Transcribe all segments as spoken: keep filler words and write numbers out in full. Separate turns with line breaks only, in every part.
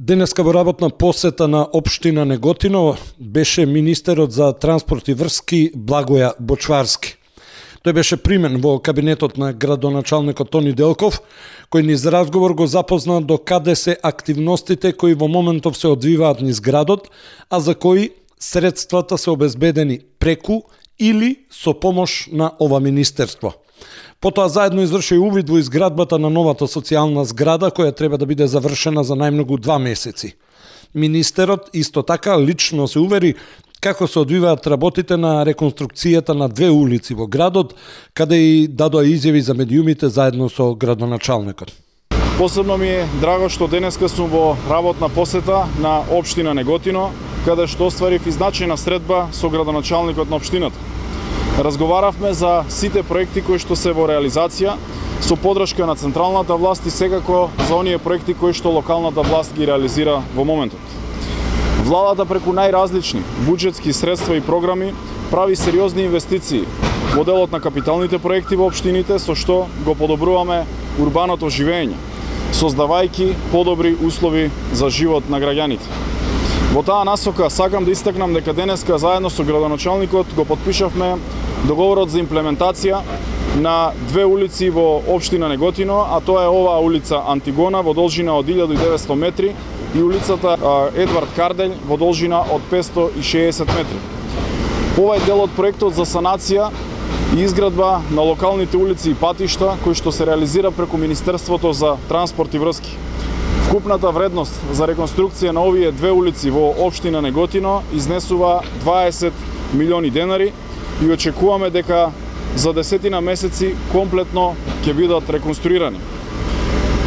Денеска во работна посета на општина Неготино беше министерот за транспорт и врски Благоја Бочварски. Тој беше примен во кабинетот на градоначалникот Тони Делков, кој низ разговор го запозна до каде се активностите кои во моментов се одвиваат низ градот, а за кои средствата се обезбедени преку или со помош на ова министерство. Потоа заедно изврши увид во изградбата на новата социјална зграда, која треба да биде завршена за најмногу два месеци. Министерот исто така лично се увери како се одвиваат работите на реконструкцијата на две улици во градот, каде и дадоа изјави за медиумите заедно со градоначалникот.
Посебно ми е драго што денеска сум во работна посета на општина Неготино, каде што остварив изначена средба со градоначалникот на општината. Разговаравме за сите проекти кои што се во реализација, со подршка на централната власт и секако за оние проекти кои што локалната власт ги реализира во моментот. Владата преку најразлични буџетски средства и програми прави сериозни инвестиции во делот на капиталните проекти во општините, со што го подобруваме урбаното живење, создавајќи подобри услови за живот на граѓаните. Во таа насока сакам да истакнам дека денеска заедно со градоначалникот го подпишавме договорот за имплементација на две улици во општина Неготино, а тоа е оваа улица Антигона во должина од илјада и деветсто метри и улицата Едвард Карделј во должина од петсто и шеесет метри. Овај дел од проектот за санација и изградба на локалните улици и патишта кои што се реализира преку Министерството за транспорт и врски. Вкупната вредност за реконструкција на овие две улици во општина Неготино изнесува дваесет милиони денари и очекуваме дека за десетина месеци комплетно ќе бидат реконструирани.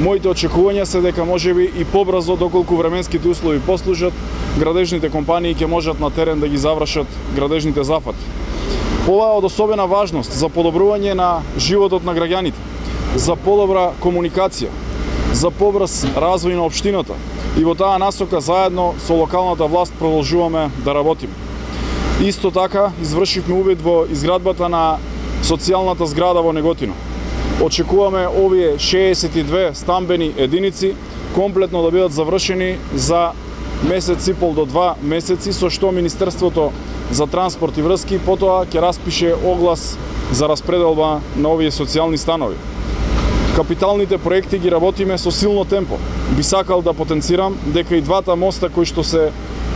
Моите очекувања се дека можеби и побрзо, доколку временските услови послужат, градежните компании ќе можат на терен да ги завршат градежните зафати. Ова е од особена важност за подобрување на животот на граѓаните, за подобра комуникација, за побрз развој на општината и во таа насока заедно со локалната власт продолжуваме да работиме. Исто така извршивме увид во изградбата на социјалната зграда во Неготино. Очекуваме овие шеесет и две стамбени единици комплетно да бидат завршени за месец и пол до два месеци, со што Министерството за транспорт и врски потоа ќе распише оглас за распределба на овие социјални станови. Капиталните проекти ги работиме со силно темпо. Би сакал да потенцирам дека и двата моста кои што се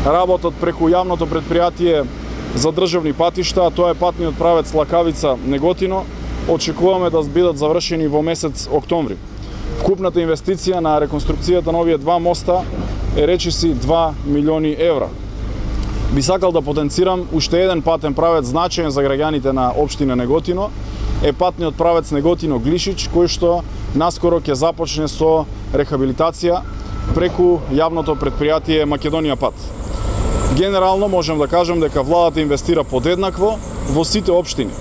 работат преку јавното претпријатие за државни патишта, а тоа е патниот правец Лакавица Неготино, очекуваме да бидат завршени во месец октомври. Вкупната инвестиција на реконструкцијата на овие два моста е речиси два милиони евра. Би сакал да потенцирам уште еден патен правец значаен за граѓаните на општина Неготино, е патниот правец Неготино-Глишич, кој што наскоро ќе започне со рехабилитација преку јавното претпријатие Македонија пат. Генерално можам да кажам дека владата инвестира подеднакво во сите општини.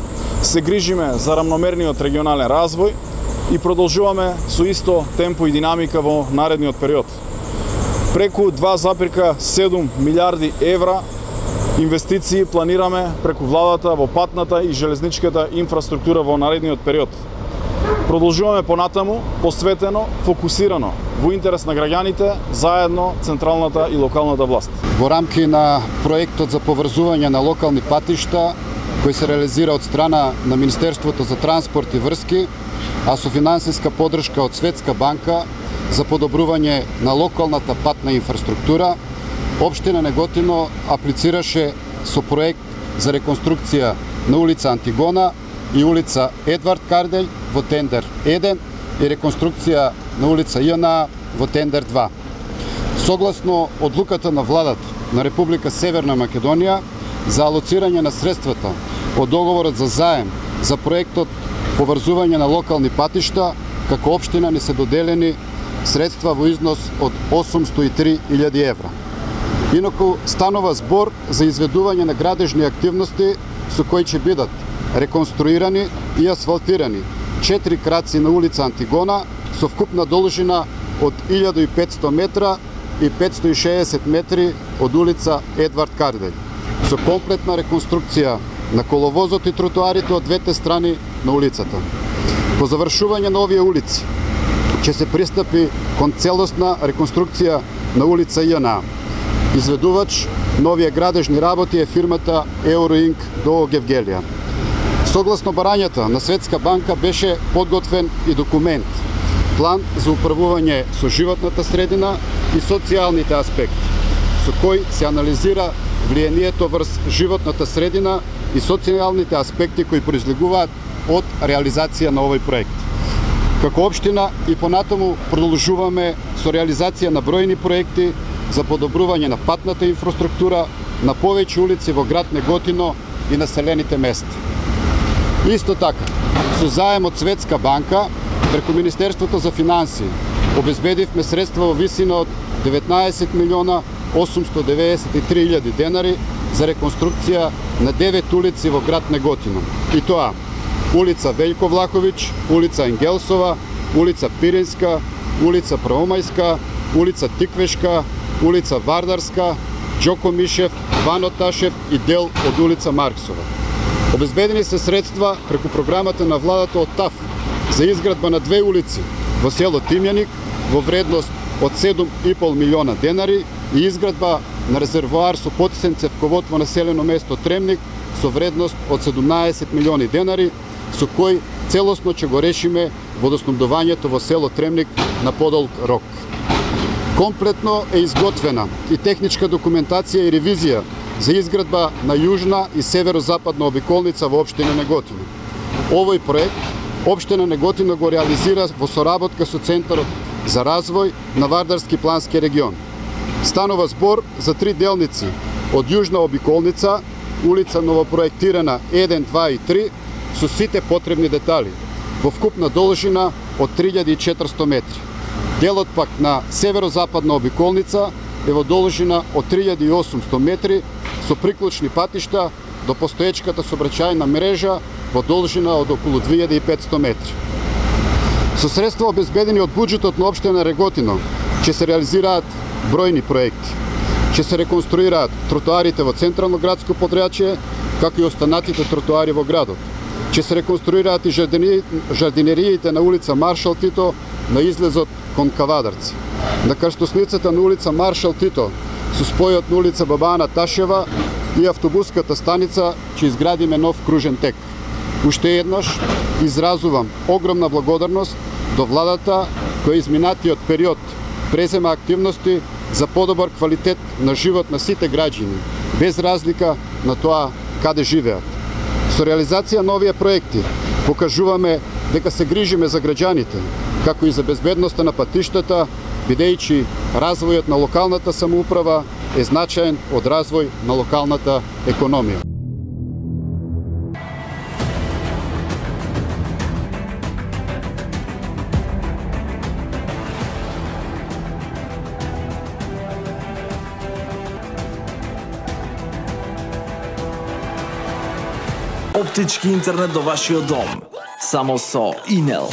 Се грижиме за рамномерниот регионален развој и продолжуваме со исто темпо и динамика во наредниот период. Преку два запирка седум милиарди евра инвестиции планираме преку владата во патната и железничката инфраструктура во наредниот период. Продолжуваме понатаму, посветено, фокусирано, во интерес на граѓаните, заедно централната и локалната власт.
Во рамки на проектот за поврзување на локални патишта, кој се реализира од страна на Министерството за транспорт и врски, а со финансиска поддршка од Светска банка за подобрување на локалната патна инфраструктура, општина Неготино аплицираше со проект за реконструкција на улица Антигона и улица Едвард Карделј во тендер еден и реконструкција на улица Јана во тендер два. Согласно одлуката на владата на Република Северна Македонија за алоцирање на средствата од договорот за заем за проектот поврзување на локални патишта, како општина ни се доделени средства во износ од осумсто и три илјади евра. Инаку станува збор за изведување на градежни активности со кои ќе бидат реконструирани и асфалтирани четири краци на улица Антигона со вкупна должина од илјада и петсто метра и петсто и шеесет метри од улица Едвард Карделј, со комплетна реконструкција на коловозот и тротоарите од двете страни на улицата. По завршување на овие улици ќе се пристапи кон целосна реконструкција на улица Јана. Изведувач новија градежни работи е фирмата Euroink до Гевгелија. Согласно барањата на Светска банка беше подготвен и документ, план за управување со животната средина и социјалните аспекти, со кој се анализира влијанието врз животната средина и социјалните аспекти кои произлегуваат од реализација на овој проект. Како општина и понатаму продолжуваме со реализација на бројни проекти за подобрување на патната инфраструктура на повеќе улици во град Неготино и населените места. Исто така, со заем од Светска банка, преку Министерството за финансии, обезбедивме средства во висина од деветнаесет милиона осумсто деведесет и три илјади денари за реконструкција на девет улици во град Неготино. И тоа: улица Велјко Влахович, улица Енгелсова, улица Пиринска, улица Праомајска, улица Тиквешка, улица Вардарска, Џоко Мишев, Вано Ташев и дел од улица Марксова. Обезбедени се средства преку програмата на владата од ТАФ за изградба на две улици во село Тимјаник во вредност од седум и пол милиона денари и изградба на резервоар со потисен цевковод во населено место Тремник со вредност од седумнаесет милиони денари, со кој целосно ќе го решиме водоснабдувањето во село Тремник на подолг рок. Комплетно е изготвена и техничка документација и ревизија за изградба на јужна и северозападна обиколница во општина Неготино. Овој проект општина Неготино го реализира во соработка со Центарот за развој на Вардарски плански регион. Станува збор за три делници од јужна обиколница, улица новопроектирана еден, два и три, со сите потребни детали, во вкупна должина од три илјади и четиристо метри. Делот пак на северозападна обиколница е во должина од три илјади и осумсто метри, со приклучни патишта до постоечката сообраќајна мрежа во должина од околу две илјади и петсто метри. Со средства обезбедени од буџетот на општина Неготино ќе се реализираат бројни проекти. Ќе се реконструираат тротоарите во централно градско подрачје, како и останатите тротоари во градот. Ќе се реконструираат и жардинериите на улица Маршал Тито на излезот кон Кавадарци. На крстосницата на улица Маршал Тито со спојот на улица Баба Ана Ташева и автобуската станица ќе изградиме нов кружен тек. Уште еднаш изразувам огромна благодарност до владата која изминатиот период презема активности за подобар квалитет на живот на сите граѓани, без разлика на тоа каде живеат. Со реализација на овие проекти покажуваме дека се грижиме за граѓаните, како и за безбедноста на патиштата, бидејќи развојот на локалната самоуправа е значаен од развој на локалната економија.
Оптички интернет до вашиот дом. Само со Инел.